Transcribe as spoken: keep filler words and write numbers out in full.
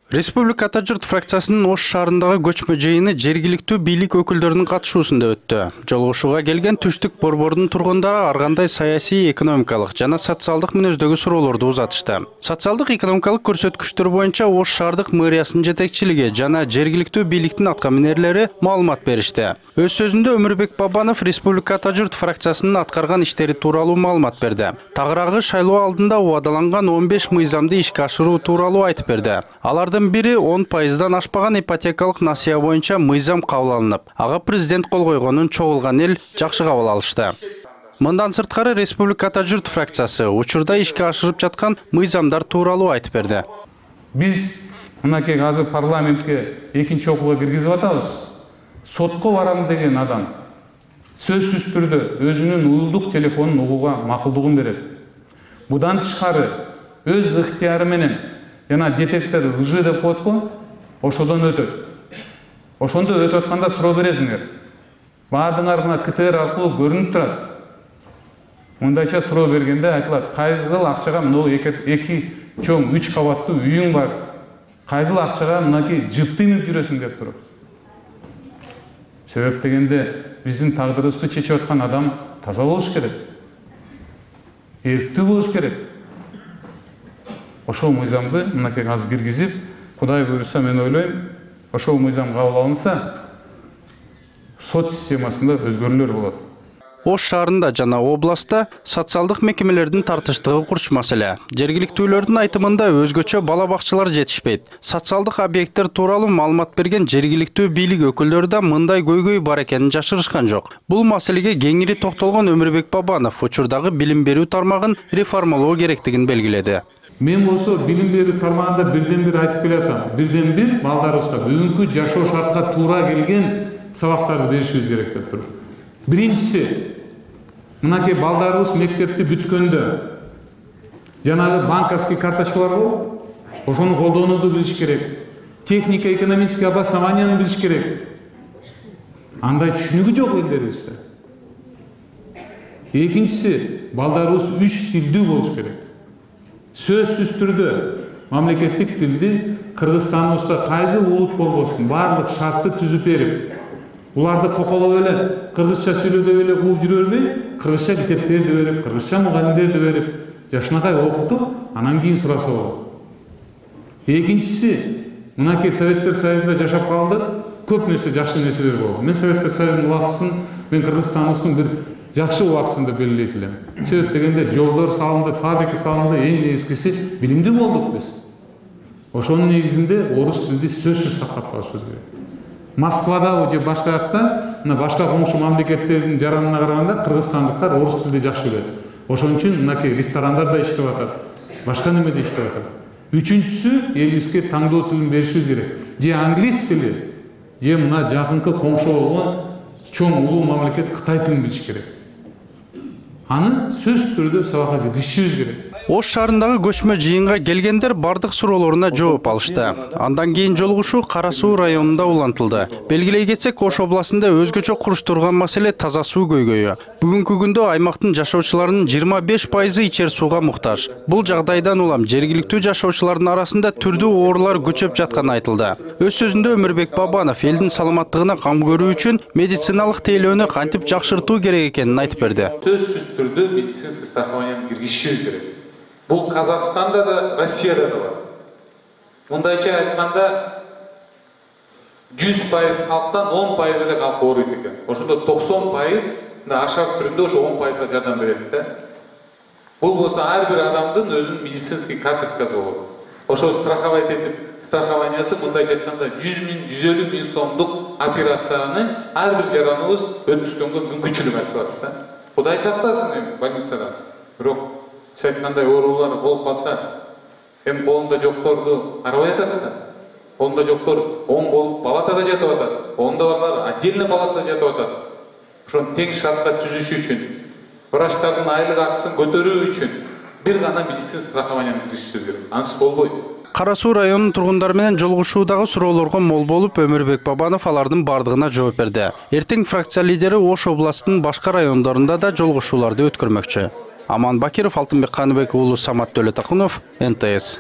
Республика Ата журт фракциясынын Ош шаарындагы көчмө жыйыны жергиликтүү бийлик өкүлдөрүнүн катышуусунда өттү. Жолугушууга келген Түштүк борборунун тургундары ар кандай саясий, экономикалык жана социалдык мүнөздөгү суроолорду узатышты. Социалдык экономикалык көрсөткүчтөр боюнча Ош шаардык мэриянын жетекчилиги жана жергиликтүү бийликтин аткаминерлери маалымат беришти. Өз сөзүндө Өмүрбек Бабанов Республика Ата журт фракциясынын аткарган иштери тууралуу маалымат берди. Тагыраагы шайлоо алдында убадаланган он беш мыйзамды ишке ашыруу тууралуу айтып берди. Алардын бири он пайыздан ашпаган ипотекалык насыя боюнча мыйзам кабыл алынып, ага президент кол койгонун чогулган эл жакшы кабыл алышты. Мындан сырткары Республика Ата журт фракциясы учурда ишке ашырып жаткан мыйзамдар тууралуу айтып берди. Биз мынакей азыр парламентке экинчи окууга киргизип атабыз. Сотко барам деген адам сөзсүз түрдө өзүнүн уюлдук телефонун угууга макулдугун берет. Будан тышкары өз ыктыяры менен жана детектор лжи деп коет го, ошодон өтөт. Ошондо өтүп атканда суроо бересиңер. Баардыгыңар мына КТР аркылуу көрүнүп турат. Мындайча суроо бергенде айтылат, кайсыл акчага мына эки чоң үч кабаттуу үйүң бар. Кайсыл акчага мынакей жыптыйнып жүрөсүң деп туруп. Себеп дегенде биздин тагдырыбызды чечип аткан адам таза болуш керек. Эрктүү болуш керек. Ошол мыйзамды мынакей азыр киргизип, Кудай буйруса мен ойлойм, ошол мыйзам кабыл алынса, сот системасында өзгөрүүлөр болот. Ош шаарында жана областта социалдык мекемелердин тартыштыгы курч маселе. Жергиликтүүлөрдүн айтымында өзгөчө бала бакчалар жетишпейт. Социалдык объекттер тууралуу маалымат берген жергиликтүү бийлик өкүлдөрү да мындай көйгөй бар экенин жашырышкан жок. Бул маселеге кеңири токтолгон Өмүрбек Бабанов учурдагы билим берүү тармагын реформалоо керектигин белгиледи. Мен болсо билим берүү тармагында бирден бир айтып келатам. Бирден бир балдарыбызга бүгүнкү жашоо шартка туура келген сабактарды беришибиз керек деп туруп. Биринчиси, мынакей балдарыбыз мектепти бүткөндө жанагы банковский карточкалар болуп, ошону колдонууду билиш керек. Технико экономический обоснованияны билиш керек. Андай түшүнүгү жок элдерибизде. Экинчиси, балдарыбыз үч тилдүү болуш керек. Сөзсүз түрдө мамлекеттик тилди Кыргызстаныбызда кайсы улут болбосун баардык шартты түзүп берип, уларды коколоп эле кыргызча сүйлөдөп эле кууп жүрө бербей, кыргызча китептерди берип, кыргызча мугалимдерди берип, жашынакай окутуп, анан кийин сураса болот. Экинчиси, мынакей Советтер Союзунда жашап калдык, көп нерсе жакшы нерселер болду. Мен Советтер Союзунун убактысын, мен Кыргызстаныбыздын бир жакшы убактысында белгилейт элем. Себеп дегенде жолдор салынды, фабрика салынды, эң эскиси билимдүү болдук биз. Ошонун негизинде орус тилди сөзсүз сактап калышыбыз керек. Москвада же башка жакта, мына башка коңшу мамлекеттердин жаранына караганда кыргызстандыктар орус тилди жакшы билет. Ошон үчүн мынакей ресторандарда иштеп атат, башка немеде иштеп атат. Үчүнчүсү, элибизге таңдоо тилин беришибиз керек. Же англис тили, же мына жакынкы коңшу болгон чоң улуу мамлекет Кытай тилин билиш керек. Аны сөз түрдө сабакка киргизишибиз керек. Ош шаарындагы көчмө жыйынга келгендер бардык суроолоруна жооп алышты. Андан кийин жолугушуу Кара Суу районунда улантылды. Белгилей кетсек, Ош областында өзгөчө куруш турган маселе таза суу көйгөйү. Бүгүнкү күндө аймактын жашоочуларынын жыйырма беш пайызы ичер сууга муктаж. Бул жагдайдан улам жергиликтүү жашоочулардын арасында түрдүү оорулар көчөп жатканы айтылды. Өз сөзүндө Өмүрбек Бабанов элдин саламаттыгына кам көрүү үчүн медициналык тейлөөнү кантип жакшыртуу керек экенин айтып берди. Сөзсүз түрдө медицинский страхованияны киргизишибиз керек. Бұл Қазақстанда да, Россияда да бар. Мындайча айтканда жүз пайыз халктан он пайыз эле халк ооруйт экен. Ошондо токсон пайыз ашар түрүндө ошо он пайызга жардам берет да. Бул болсо ар бир адамдын өзүнүн медицинский карточкасы болот. Ошо страховать этип, страхованиясы мындайча айтканда жүз миң, жүз элүү миң сомдук операцияны ар бир жараныбыз өткүзгөнгө мүмкүнчүлүк ачылат да. Кудай сактасын эми больницадан. Бирок сайтмандай оорулар болуп калса, эми колунда жокторду карабай атат да. Колунда жоктор оң болуп палатада жатып атат. Колунда барлар отдельно палатада жатып атат. Ошону тең шартта түзүш үчүн, врачтардын айлык акысын көтөрүү үчүн бир гана медицинский страхованияны киргизишибиз керек. Ансыз болбойт. Кара Суу районунун тургундары менен жолугушуудагы суроолорго мол болуп, Өмүрбек Бабанов алардын бардыгына жооп берди. Эртең фракция лидери Ош областынын башка райондорунда да жолугушууларды өткөрмөкчү. Аман Бакиров, Алтынбек Каныбек уулу, Самат Төлөтакунов, эн тэ эс.